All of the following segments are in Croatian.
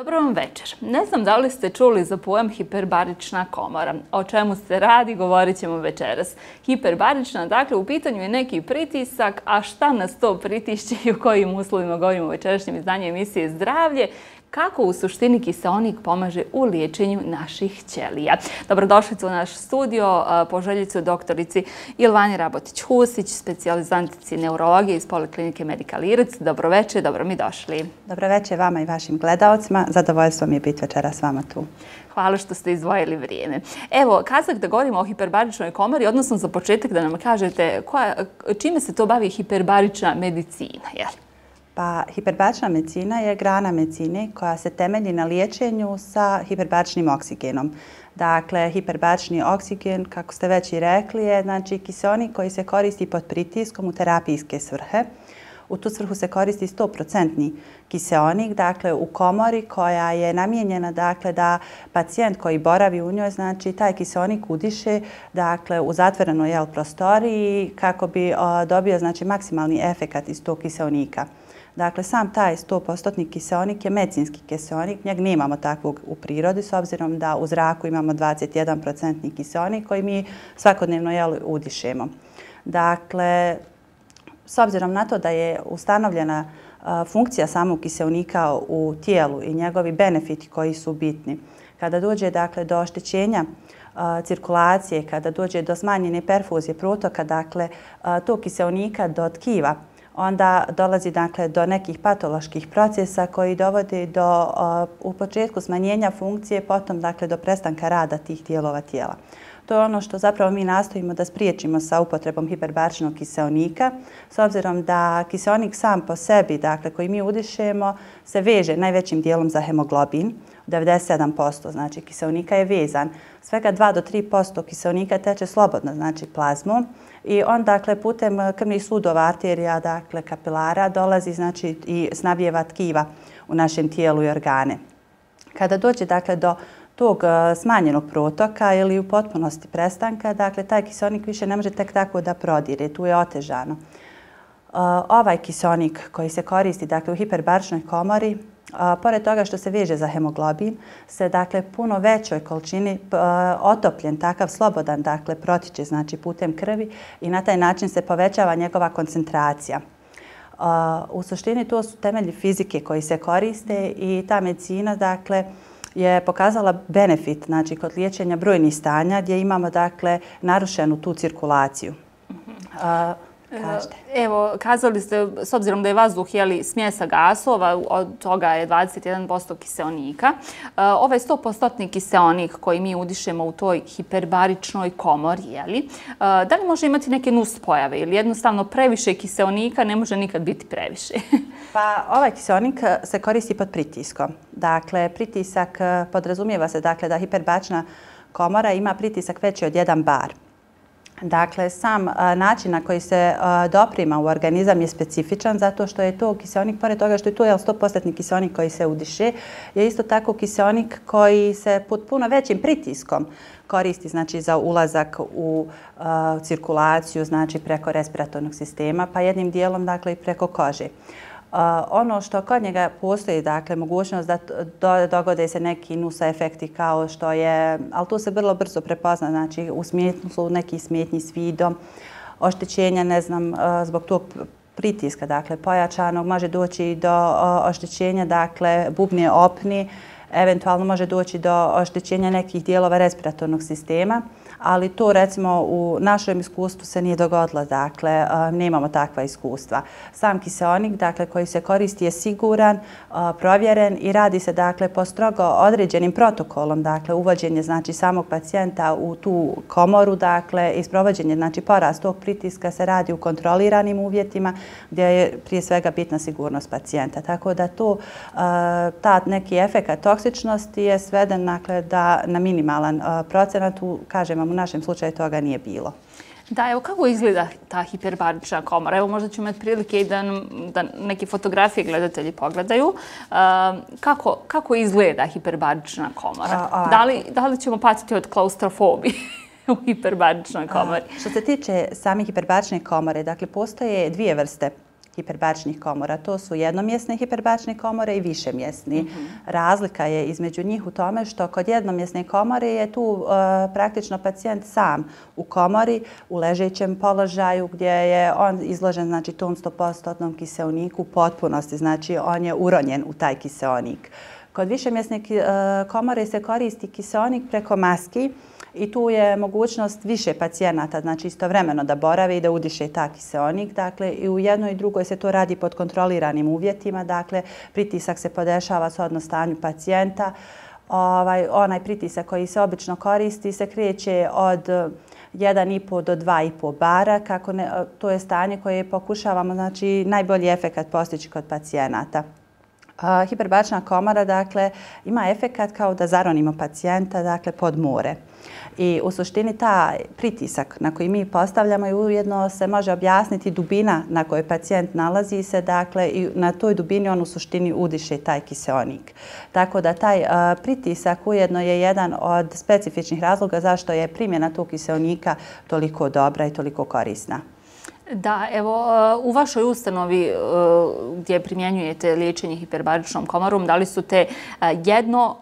Dobro vam večer. Ne znam da li ste čuli za pojam hiperbarična komora. O čemu se radi, govorit ćemo večeras. Hiperbarična, dakle, u pitanju je neki pritisak, a šta nas to pritišće i u kojim uslovima govorimo u večerašnjem izdanju emisije Zdravlje, kako u suštini kiseonik pomaže u liječenju naših ćelija. Dobrodošlicu u naš studio, poželjicu doktorici Ilvani Rabotić-Husić, specijalizantici neurologije iz Poliklinike Medical Iritz. Dobro večer, dobro mi došli. Dobro večer vama i vašim gledaocima. Zadovoljstvo mi je biti večera s vama tu. Hvala što ste izdvojili vrijeme. Evo, kazak da govorimo o hiperbaričnoj komori, odnosno za početak da nam kažete čime se to bavi hiperbarična medicina, jel? Pa, hiperbarična medicina je grana medicine koja se temelji na liječenju sa hiperbaričnim oksigenom. Dakle, hiperbarični oksigen, kako ste već i rekli, je znači kiseonik koji se koristi pod pritiskom u terapijske svrhe. U tu svrhu se koristi 100% kiseonik, dakle u komori koja je namijenjena dakle, da pacijent koji boravi u njoj, znači taj kiseonik udiše dakle, u zatvorenoj prostoriji kako bi dobio znači, maksimalni efekat iz tog kiseonika. Dakle, sam taj 100% kiseonik je medicinski kiseonik, njeg nemamo takvog u prirodi s obzirom da u zraku imamo 21% kiseonik koji mi svakodnevno udišemo. Dakle, s obzirom na to da je ustanovljena funkcija samog kiseonika u tijelu i njegovi benefiti koji su bitni, kada dođe dakle, do oštećenja cirkulacije, kada dođe do smanjene perfuzije protoka, dakle, tog kiseonika do tkiva, onda dolazi dakle, do nekih patoloških procesa koji dovode do u početku smanjenja funkcije, potom dakle, do prestanka rada tih dijelova tijela. To je ono što zapravo mi nastojimo da spriječimo sa upotrebom hiperbaričnog kiseonika, s obzirom da kiseonik sam po sebi, dakle, koji mi udišemo, se veže najvećim dijelom za hemoglobin, 97%, znači kiseonika je vezan. Svega 2 do 3% kiseonika teče slobodno, znači plazmom, i on dakle putem krvnih sudova, arterija, dakle kapilara dolazi znači i snabdijeva tkiva u našem tijelu i organe. Kada dođe dakle do tog smanjenog protoka ili u potpunosti prestanka, dakle taj kiseonik više ne može tek tako da prodire, tu je otežano. Ovaj kiseonik koji se koristi dakle u hiperbaričnoj komori, pored toga što se veže za hemoglobin, se dakle puno većoj količini otopljen, takav slobodan, dakle protiče znači putem krvi i na taj način se povećava njegova koncentracija. U suštini to su temelji fizike koji se koriste i ta medicina dakle je pokazala benefit znači kod liječenja brojnih stanja gdje imamo dakle narušenu tu cirkulaciju. Evo, kazali ste, s obzirom da je vazduh smjesa gasova, od toga je 21% kiseonika. Ovaj 100% kiseonik koji mi udišemo u toj hiperbaričnoj komori, da li može imati neke nuspojave ili jednostavno previše kiseonika ne može nikad biti previše? Pa ovaj kiseonik se koristi pod pritiskom. Dakle, pritisak podrazumijeva se dakle, da hiperbarična komora ima pritisak veći od 1 bar. Dakle, sam način na koji se doprima u organizam je specifičan zato što je to kiseonik, pored toga što je to 100% kiseonik koji se udiše, je isto tako kiseonik koji se pod puno većim pritiskom koristi znači, za ulazak u cirkulaciju znači, preko respiratornog sistema, pa jednim dijelom dakle, i preko kože. Ono što kod njega postoji, dakle, mogućnost da dogode se neki nusa efekti kao što je, ali to se vrlo brzo prepozna, znači u smislu nekih smetnji s vidom, oštećenja, ne znam, zbog tog pritiska, dakle, pojačanog, može doći do oštećenja, dakle, bubne opni, eventualno može doći do oštećenja nekih dijelova respiratornog sistema, ali to recimo u našem iskustvu se nije dogodilo, dakle nemamo takva iskustva. Sam kiseonik dakle, koji se koristi je siguran, provjeren i radi se dakle, po strogo određenim protokolom, dakle uvođenje znači, samog pacijenta u tu komoru dakle, i sprovođenje znači, porast tog pritiska se radi u kontroliranim uvjetima gdje je prije svega bitna sigurnost pacijenta. Tako da to, ta neki efekat toksičnosti je sveden dakle, da na minimalan procenat, kažem u našem slučaju toga nije bilo. Da, evo kako izgleda ta hiperbarična komora? Evo možda ćemo imati prilike i da neke fotografije gledatelji pogledaju. Kako izgleda hiperbarična komora? Da li ćemo patiti od klaustrofobije u hiperbaričnoj komori? Što se tiče same hiperbarične komore, dakle postoje dvije vrste hiperbaričnih komora. To su jednomjesne hiperbarične komore i višemjesni. Razlika je između njih u tome što kod jednomjesne komore je tu praktično pacijent sam u komori, u ležećem položaju gdje je on izložen znači, tom 100% kiseoniku u potpunosti, znači on je uronjen u taj kiseonik. Kod višemjesne komore se koristi kiseonik preko maski i tu je mogućnost više pacijenata, znači istovremeno da borave i da udiše ta kiseonik. Dakle, i u jednoj i drugoj se to radi pod kontroliranim uvjetima, dakle, pritisak se podešava shodno stanju pacijenta. Onaj pritisak koji se obično koristi se kreće od 1,5 do 2,5 bara. To je stanje koje pokušavamo znači, najbolji efekat postići kod pacijenata. Hiperbarična komora dakle, ima efekat kao da zaronimo pacijenta dakle, pod more. I u suštini taj pritisak na koji mi postavljamo i ujedno se može objasniti dubina na kojoj pacijent nalazi se, dakle i na toj dubini on u suštini udiše taj kiseonik. Tako da taj pritisak ujedno je jedan od specifičnih razloga zašto je primjena tog kiseonika toliko dobra i toliko korisna. Da, evo, u vašoj ustanovi gdje primjenjujete liječenje hiperbaričnom komorom, da li su te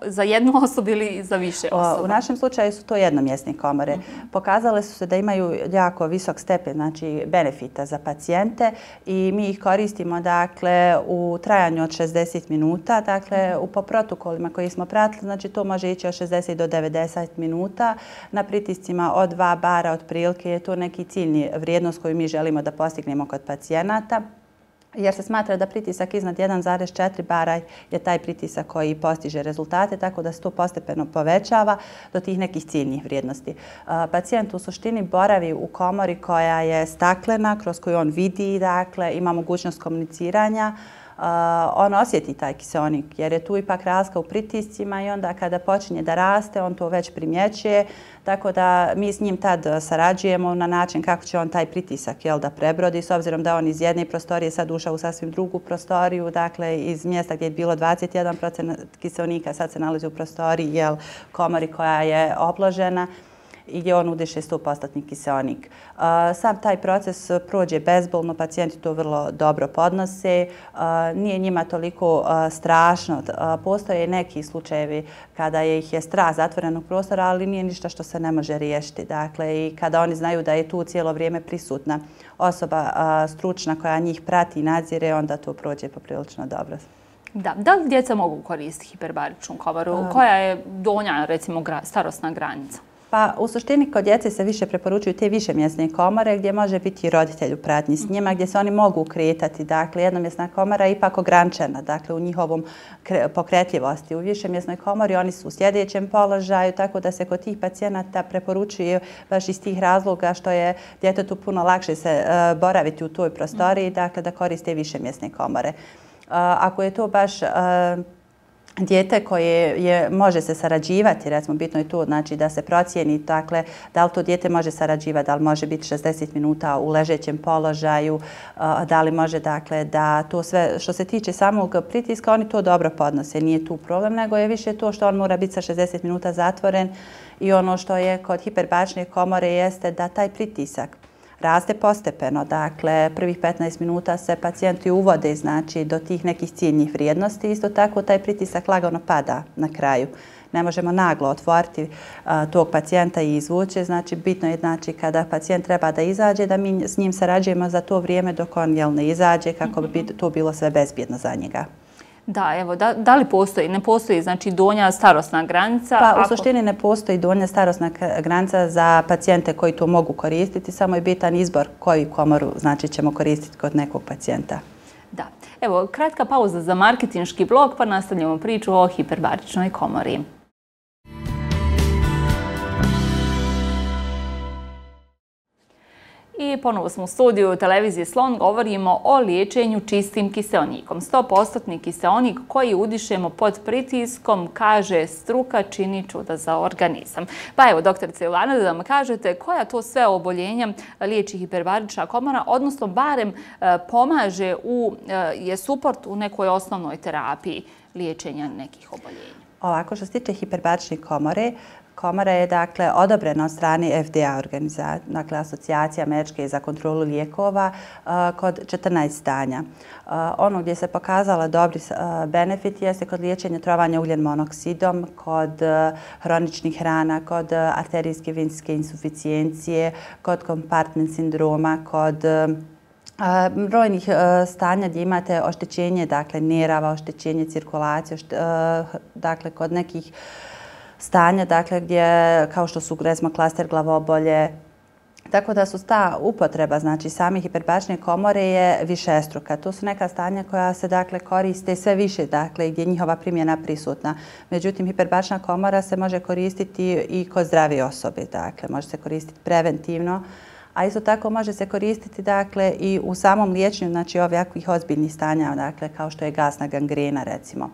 za jednu osobu ili za više osoba? U našem slučaju su to jednomjesne komore. Pokazale su se da imaju jako visok stepen znači, benefita za pacijente i mi ih koristimo dakle, u trajanju od 60 minuta. Dakle, po protokolima koji smo pratili, znači, to može ići od 60 do 90 minuta. Na pritiscima od 2 bara otprilike je to neki ciljni vrijednost koju mi želimo da postignemo kod pacijenata, jer se smatra da pritisak iznad 1,4 bara je taj pritisak koji postiže rezultate, tako da se to postepeno povećava do tih nekih ciljnih vrijednosti. Pacijent u suštini boravi u komori koja je staklena, kroz koju on vidi, dakle, ima mogućnost komuniciranja. On osjeti taj kiseonik jer je tu ipak razlika u pritiscima i onda kada počinje da raste on to već primjećuje, tako da mi s njim tad sarađujemo na način kako će on taj pritisak da prebrodi, s obzirom da on iz jedne prostorije sad ušao u sasvim drugu prostoriju, dakle iz mjesta gdje je bilo 21% kiseonika sad se nalazi u prostoriji komori koja je obložena i gdje on udiše 100% kiseonik. Sam taj proces prođe bezbolno, pacijenti to vrlo dobro podnose, nije njima toliko strašno. Postoje neki slučajevi kada ih je strah zatvorenog prostora, ali nije ništa što se ne može riješiti. Dakle, i kada oni znaju da je tu cijelo vrijeme prisutna osoba stručna koja njih prati i nadzire, onda to prođe poprilično dobro. Da li djeca mogu koristiti hiperbaričnu komoru? Koja je donja, recimo, starosna granica? Pa u suštini kod djece se više preporučuju te višemjesne komore gdje može biti roditelj u pratnji s njima, gdje se oni mogu kretati. Dakle, jednomjesna komora je ipak ograničena, dakle, u njihovom pokretljivosti. U višemjesnoj komori oni su u sljedećem položaju, tako da se kod tih pacijenata preporučuje baš iz tih razloga što je djetetu puno lakše se boraviti u toj prostoriji, dakle, da koriste višemjesne komore. Ako je to baš dijete koje može se sarađivati, recimo bitno je to znači, da se procijeni dakle, da li to dijete može sarađivati, da li može biti 60 minuta u ležećem položaju, da li može dakle, da to sve što se tiče samog pritiska, oni to dobro podnose, nije tu problem, nego je više to što on mora biti sa 60 minuta zatvoren i ono što je kod hiperbarične komore jeste da taj pritisak raste postepeno. Dakle, prvih 15 minuta se pacijenti uvode znači, do tih nekih ciljnih vrijednosti. Isto tako, taj pritisak lagano pada na kraju. Ne možemo naglo otvoriti tog pacijenta i izvući. Znači, bitno je znači, kada pacijent treba da izađe, da mi s njim sarađujemo za to vrijeme dok on ne izađe, kako bi to bilo sve bezbjedno za njega. Da, evo, da li postoji? Ne postoji, znači, donja starosna granica? Pa, u suštini ne postoji donja starosna granica za pacijente koji to mogu koristiti, samo je bitan izbor koju komoru, znači, ćemo koristiti kod nekog pacijenta. Da. Evo, kratka pauza za marketinški blok, pa nastavljamo priču o hiperbaričnoj komori. I ponovo smo u studiju televizije Slon, govorimo o liječenju čistim kiseonikom. 100% kiseonik koji udišemo pod pritiskom, kaže struka, čini čuda za organizam. Pa evo, doktorice Ilana, da nam kažete koja to sve oboljenja liječi hiperbarična komora, odnosno barem pomaže je suport u nekoj osnovnoj terapiji liječenja nekih oboljenja. Ovako, što se tiče hiperbarične komore, komora je dakle odobrena od strane FDA organizacije, dakle Asocijacije američke za kontrolu lijekova kod 14 stanja. Ono gdje se pokazala dobri benefit jeste kod liječenja trovanja ugljen monoksidom, kod hroničnih rana, kod arterijske venske insuficijencije, kod kompartment sindroma, kod brojnih stanja gdje imate oštećenje, dakle nerava, oštećenje cirkulacije, dakle kod nekih stanja, dakle gdje kao što su recimo klaster glavobolje. Tako da su ta upotreba, znači same hiperbarične komore je višestruka. To su neka stanja koja se dakle koriste sve više, dakle gdje je njihova primjena prisutna. Međutim, hiperbarična komora se može koristiti i kod zdrave osobe, dakle može se koristiti preventivno, a isto tako može se koristiti dakle i u samom liječenju, znači ovakvih ozbiljnih stanja, dakle kao što je gasna gangrena recimo.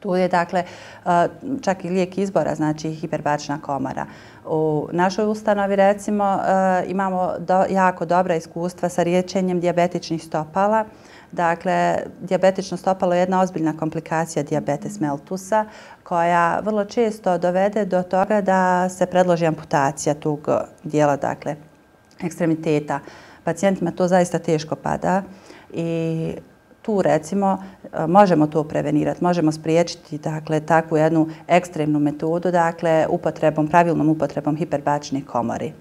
Tu je dakle čak i lijek izbora, znači hiperbarična komora. U našoj ustanovi recimo imamo jako dobra iskustva sa liječenjem dijabetičnih stopala. Dakle, dijabetično stopalo je jedna ozbiljna komplikacija dijabetes meltusa koja vrlo često dovede do toga da se predloži amputacija tog dijela, dakle, ekstremiteta. Pacijentima to zaista teško pada i tu recimo možemo to prevenirati, možemo spriječiti dakle takvu jednu ekstremnu metodu, dakle pravilnom upotrebom hiperbarične komore.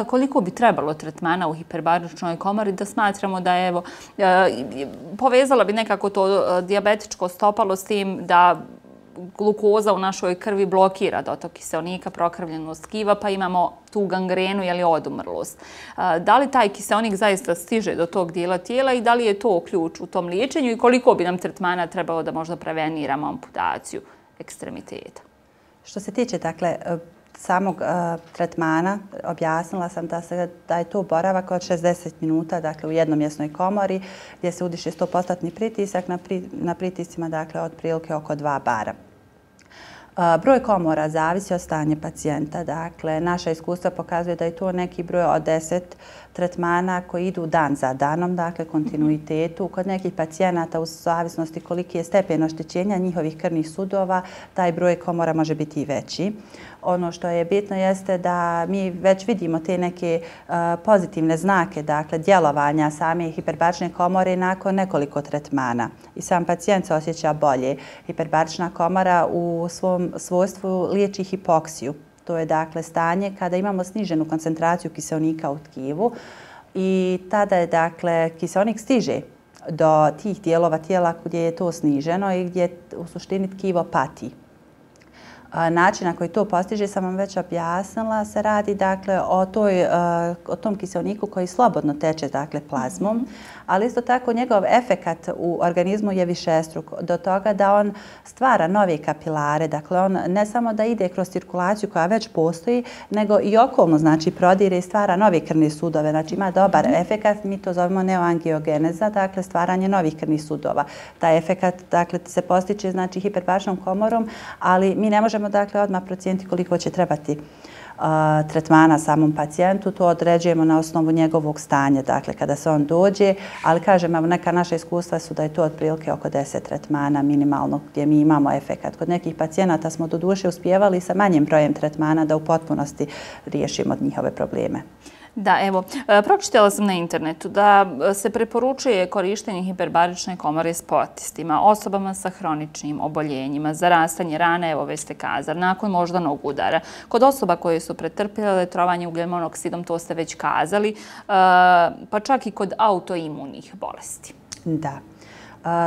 Koliko bi trebalo tretmana u hiperbaričnoj komori da smatramo da evo povezala bi nekako to dijabetičko stopalo s tim da glukoza u našoj krvi blokira dotok kiseonika, prokrvljenost tkiva, pa imamo tu gangrenu ili odumrlost. Da li taj kiseonik zaista stiže do tog dijela tijela i da li je to ključ u tom liječenju i koliko bi nam tretmana trebalo da možda preveniramo amputaciju ekstremiteta? Što se tiče dakle samog tretmana, objasnila sam da je to boravak od 60 minuta dakle, u jednomjesnoj komori gdje se udiše 100% pritisak na pritiscima dakle, otprilike oko 2 bara. Broj komora zavisi od stanja pacijenta. Dakle, naša iskustva pokazuje da je to neki broj od 10 tretmana koji idu dan za danom, dakle kontinuitetu. Kod nekih pacijenata u zavisnosti koliki je stepen oštećenja njihovih krvnih sudova, taj broj komora može biti i veći. Ono što je bitno jeste da mi već vidimo te neke pozitivne znake, dakle djelovanja same hiperbarične komore nakon nekoliko tretmana. I sam pacijent se osjeća bolje. Hiperbarična komora u svom svojstvu liječi hipoksiju. To je dakle stanje kada imamo sniženu koncentraciju kiseonika u tkivu i tada je dakle kiseonik stiže do tih dijelova tijela gdje je to sniženo i gdje u suštini tkivo pati. Način na koji to postiže sam vam već objasnila, se radi dakle o tom kiseoniku koji slobodno teče dakle plazmom, ali isto tako njegov efekat u organizmu je višestruk do toga da on stvara nove kapilare, dakle on ne samo da ide kroz cirkulaciju koja već postoji, nego i okolno znači prodire i stvara nove krvne sudove, znači ima dobar efekat, mi to zovemo neoangiogeneza, dakle stvaranje novih krvnih sudova. Taj efekat dakle se postiče znači hiperbaričnom komorom, ali mi ne možemo dakle odmah procijeniti koliko će trebati tretmana samom pacijentu. To određujemo na osnovu njegovog stanja, dakle kada se on dođe, ali kažem, neka naša iskustva su da je to otprilike oko 10 tretmana minimalno gdje mi imamo efekat. Kod nekih pacijenata smo doduše uspijevali sa manjim brojem tretmana da u potpunosti riješimo njihove probleme. Da, evo, pročitala sam na internetu da se preporučuje korištenje hiperbarične komore sportistima, osobama sa hroničnim oboljenjima, zarastanje rane, evo već ste kazali, nakon moždanog udara. Kod osoba koje su pretrpjele trovanje ugljen monoksidom, to ste već kazali, pa čak i kod autoimunih bolesti. Da.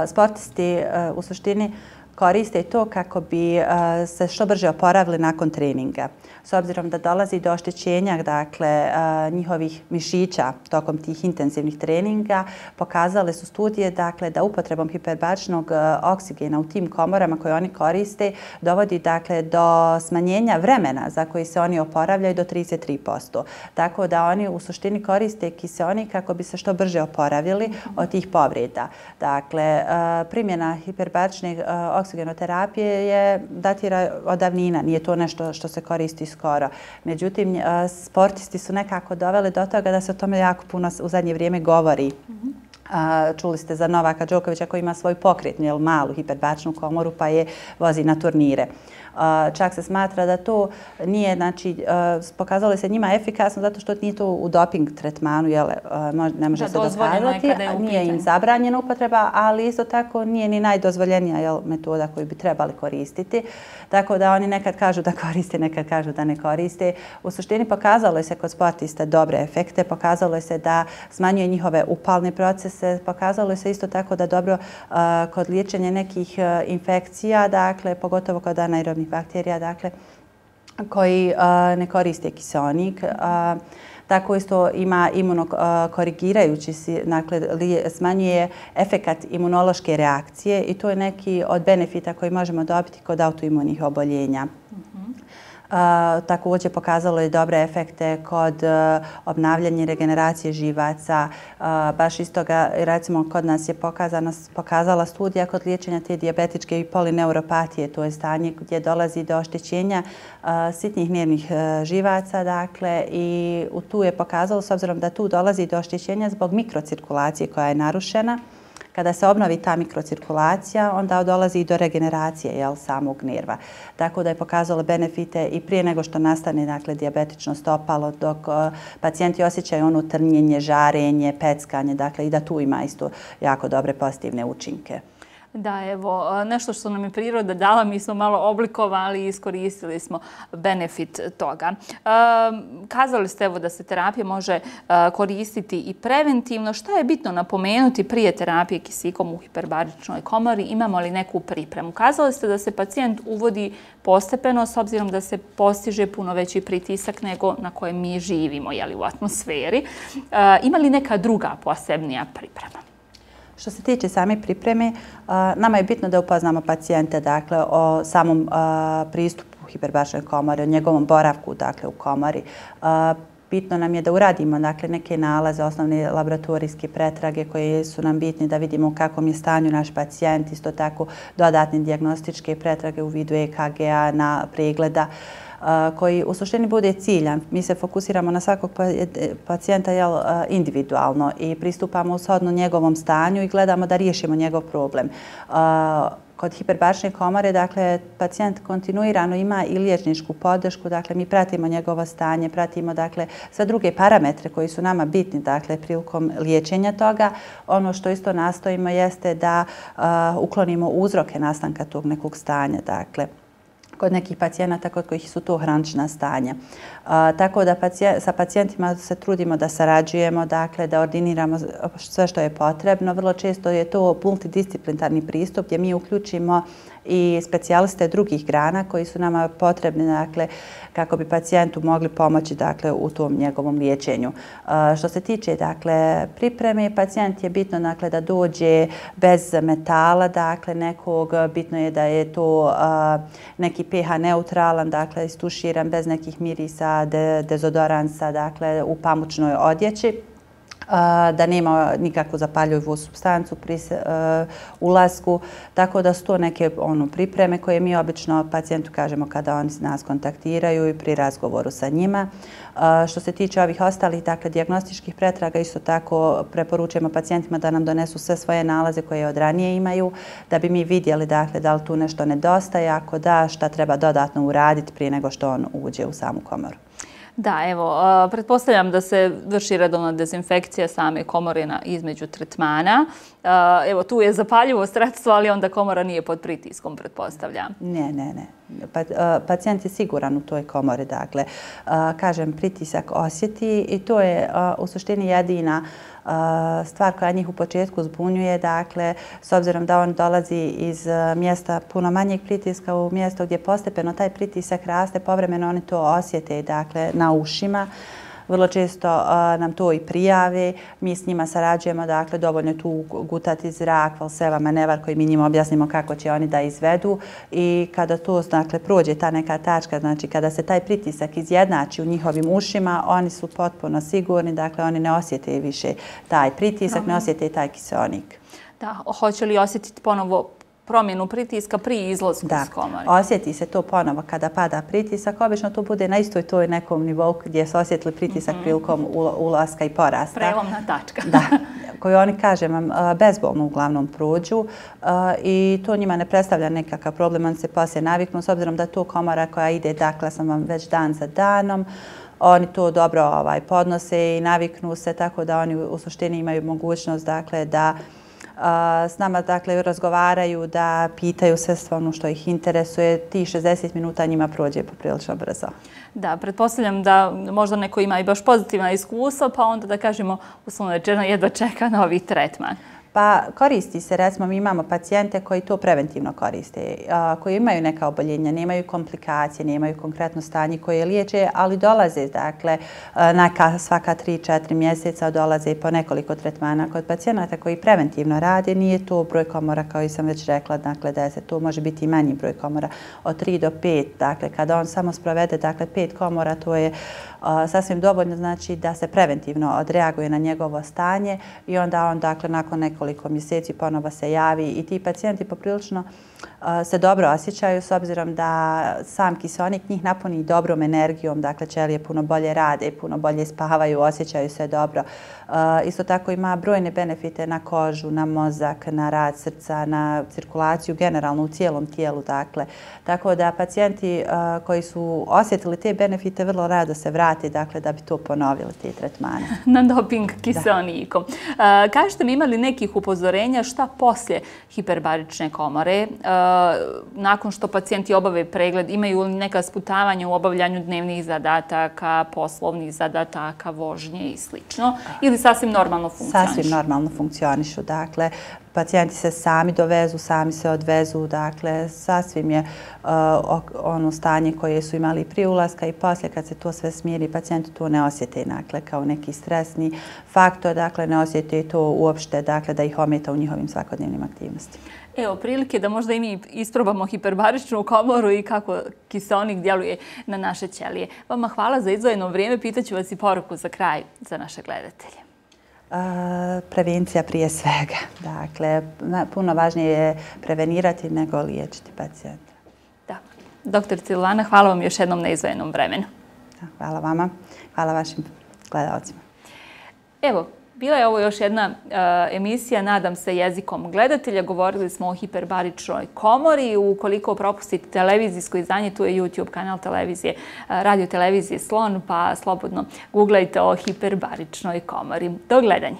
Sportisti u suštini koriste to kako bi se što brže oporavili nakon treninga. S obzirom da dolazi do oštećenja dakle, njihovih mišića tokom tih intenzivnih treninga, pokazale su studije dakle, da upotrebom hiperbaričnog oksigena u tim komorama koje oni koriste dovodi dakle, do smanjenja vremena za koji se oni oporavljaju do 33%. Tako da oni u suštini koriste kiseonik kako bi se što brže oporavili od tih povreda. Dakle, primjena hiperbarične oksigenoterapije je datira od davnina, nije to nešto što se koristi skoro. Međutim, sportisti su nekako doveli do toga da se o tome jako puno u zadnje vrijeme govori. Čuli ste za Novaka Đokovića koji ima svoju pokretnu, malu hiperbačnu komoru pa je vozi na turnire. Čak se smatra da to nije, znači, pokazalo se njima efikasno zato što nije to u doping tretmanu, ne može se dokazati, nije im zabranjena upotreba, ali isto tako nije ni najdozvoljenija metoda koju bi trebali koristiti. Tako da oni nekad kažu da koriste, nekad kažu da ne koriste. U suštini pokazalo se kod sportista dobre efekte, pokazalo se da smanjuje njihove upalne procese, pokazalo se isto tako da dobro kod liječenja nekih infekcija, dakle, pogotovo kod anaerobnih bakterija, dakle, koji ne koriste kiseonik. Tako isto ima imunokorigirajući, dakle, smanjuje efekat imunološke reakcije i to je neki od benefita koji možemo dobiti kod autoimunih oboljenja. Također pokazalo je dobre efekte kod obnavljanja i regeneracije živaca. Baš iz toga, recimo, kod nas je pokazala studija kod liječenja te dijabetičke i polineuropatije. To je stanje gdje dolazi do oštećenja sitnih nervnih živaca. Dakle, i tu je pokazalo, s obzirom da tu dolazi do oštećenja zbog mikrocirkulacije koja je narušena, kada se obnovi ta mikrocirkulacija, onda dolazi i do regeneracije samog nerva. Tako da je pokazalo benefite i prije nego što nastane, dakle, dijabetično stopalo, dok pacijenti osjećaju ono trnjenje, žarenje, peckanje, dakle, i da tu ima isto jako dobre pozitivne učinke. Da, evo, nešto što nam je priroda dala, mi smo malo oblikovali i iskoristili smo benefit toga. Kazali ste, evo, da se terapija može koristiti i preventivno. Šta je bitno napomenuti prije terapije kisikom u hiperbaričnoj komori? Imamo li neku pripremu? Kazali ste da se pacijent uvodi postepeno s obzirom da se postiže puno veći pritisak nego na kojem mi živimo, u atmosferi. Ima li neka druga posebnija priprema? Što se tiče same pripreme, nama je bitno da upoznamo pacijente, dakle, o samom pristupu hiperbaričnoj komori, o njegovom boravku, dakle, u komori. Bitno nam je da uradimo, dakle, neke nalaze, osnovne laboratorijske pretrage koje su nam bitni da vidimo u kakvom je stanju naš pacijent, isto tako dodatne dijagnostičke pretrage u vidu EKG-a, na pregleda, koji u suštini bude ciljan. Mi se fokusiramo na svakog pacijenta individualno i pristupamo shodno njegovom stanju i gledamo da riješimo njegov problem. Kod hiperbarične komore, dakle, pacijent kontinuirano ima i liječničku podršku, dakle, mi pratimo njegovo stanje, pratimo, dakle, sve druge parametre koji su nama bitni, dakle, prilikom liječenja toga. Ono što isto nastojimo jeste da uklonimo uzroke nastanka tog nekog stanja, dakle, kod nekih pacijenata kod kojih su to hronična stanja. Tako da sa pacijentima se trudimo da sarađujemo, dakle, da ordiniramo sve što je potrebno. Vrlo često je to multidisciplinarni pristup gdje mi uključimo i specijaliste drugih grana koji su nama potrebni, dakle, kako bi pacijentu mogli pomoći, dakle, u tom njegovom liječenju. Što se tiče, dakle, pripreme, pacijent je bitno, dakle, da dođe bez metala, dakle, nekog, bitno je da je to neki pH neutralan, dakle, istuširan bez nekih mirisa, dezodoransa, dakle, u pamučnoj odjeći, da nema nikakvu zapaljivu supstancu pri ulasku. Tako da su to neke pripreme koje mi obično pacijentu kažemo kada oni nas kontaktiraju i pri razgovoru sa njima. Što se tiče ovih ostalih, dakle, dijagnostičkih pretraga, isto tako preporučujemo pacijentima da nam donesu sve svoje nalaze koje od ranije imaju, da bi mi vidjeli, dakle, da li tu nešto nedostaje, ako da, šta treba dodatno uraditi prije nego što on uđe u samu komoru. Da, evo, pretpostavljam da se vrši redovna dezinfekcija same komore između tretmana. Evo, tu je zapaljivo sredstvo, ali onda komora nije pod pritiskom, pretpostavljam. Ne. Pacijent je siguran u toj komori, dakle, kažem, pritisak osjeti i to je u suštini jedina stvar koja njih u početku zbunjuje, dakle, s obzirom da on dolazi iz mjesta puno manjeg pritiska u mjesto gdje postepeno taj pritisak raste, povremeno oni to osjete, dakle, na ušima. Vrlo često nam to i prijave, mi s njima sarađujemo, dakle, dovoljno je tu gutati zrak, valseva, manevar koji mi njima objasnimo kako će oni da izvedu i kada to, dakle, prođe ta neka tačka, znači kada se taj pritisak izjednači u njihovim ušima, oni su potpuno sigurni, dakle, oni ne osjete više taj pritisak, ne osjete taj kiseonik. Da, hoće li osjetiti ponovo promjenu pritiska pri izlasku iz komore? Da, osjeti se to ponovo kada pada pritisak. Obično to bude na istoj toj nekom nivou gdje se osjetili pritisak prilikom ulaska i porasta. Prelomna tačka. Da. koju oni, kažem vam, bezbolno uglavnom prođu i to njima ne predstavlja nekakav problem, oni se poslije naviknu, s obzirom da to komora koja ide, dakle, sam vam već dan za danom, oni to dobro podnose i naviknu se, tako da oni u suštini imaju mogućnost, dakle, da s nama, dakle, razgovaraju, da pitaju sve ono što ih interesuje. Ti 60 minuta njima prođe poprilično brzo. Da, pretpostavljam da možda neko ima i baš pozitivna iskustva, pa onda da kažemo uslovno rečeno jedva čeka novi tretman. Pa koristi se, recimo mi imamo pacijente koji to preventivno koriste, koji imaju neka oboljenja, nemaju komplikacije, nemaju konkretno stanje koje liječe, ali dolaze, dakle, svaka 3-4 mjeseca dolaze po nekoliko tretmana. Kod pacijenata koji preventivno rade, nije to broj komora, kao i sam već rekla, dakle, 10, to može biti i manji broj komora, od 3 do 5. Dakle, kada on samo sprovede, dakle, 5 komora, to je sasvim dovoljno, znači da se preventivno odreaguje na njegovo stanje i onda on, dakle, nakon nekoliko mjeseci ponovo se javi i ti pacijenti poprilično se dobro osjećaju s obzirom da sam kiseonik njih napuni dobrom energijom, dakle ćelije puno bolje rade, puno bolje spavaju, osjećaju se dobro. Isto tako ima brojne benefite na kožu, na mozak, na rad srca, na cirkulaciju generalno u cijelom tijelu, dakle. Tako da pacijenti koji su osjetili te benefite vrlo rado se vrate, dakle, da bi to ponovili, te tretmane. Na doping kiseonikom. Kažete mi, ima li nekih upozorenja šta poslije hiperbarične komore? Nakon što pacijenti obave pregled, imaju li neka sputavanja u obavljanju dnevnih zadataka, poslovnih zadataka, vožnje i sl. Ili sasvim normalno funkcionišu? Sasvim normalno funkcionišu. Dakle, pacijenti se sami dovezu, sami se odvezu. Dakle, sasvim je ono stanje koje su imali prije ulaska i poslije kad se to sve smiri, pacijenti to ne osjete, dakle, kao neki stresni faktor. Dakle, ne osjete to uopšte, dakle, da ih ometa u njihovim svakodnevnim aktivnostima. Evo, prilike da možda i mi isprobamo hiperbaričnu komoru i kako kiseonik djeluje na naše ćelije. Vama hvala za izdvojeno vrijeme. Pitaću vas i poruku za kraj za naše gledatelje. Prevencija prije svega. Dakle, puno važnije je prevenirati nego liječiti pacijenta. Da. Dr. Silvana, hvala vam još jednom na izdvojenom vremenu. Hvala vama. Hvala vašim gledalcima. Evo, bila je ovo još jedna emisija, nadam se, jezikom gledatelja. Govorili smo o hiperbaričnoj komori. Ukoliko propustite televizijsko izdanje, tu je YouTube kanal televizije, radio televizije Slon, pa slobodno googlajte o hiperbaričnoj komori. Do gledanja.